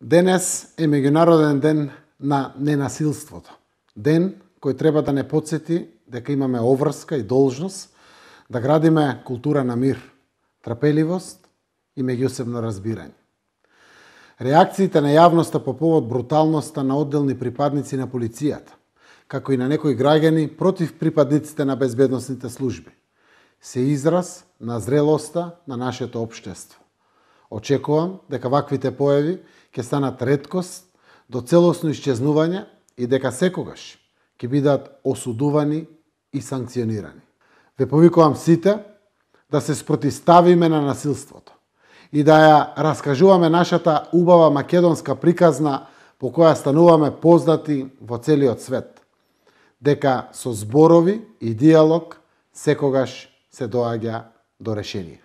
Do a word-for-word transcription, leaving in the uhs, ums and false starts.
Денес е меѓународен ден на ненасилството. Ден кој треба да не потсети дека имаме обврска и должност да градиме култура на мир, трпеливост и меѓусебно разбирање. Реакциите на јавноста по повод бруталноста на одделни припадници на полицијата, како и на некои граѓани против припадниците на безбедносните служби, се израз на зрелоста на нашето општество. Очекувам дека ваквите појави ќе станат реткост до целосно исчезнување и дека секогаш ќе бидат осудувани и санкционирани. Ве повикувам сите да се спротиставиме на насилството и да ја раскажуваме нашата убава македонска приказна по која стануваме познати во целиот свет, дека со зборови и диалог секогаш се доаѓа до решение.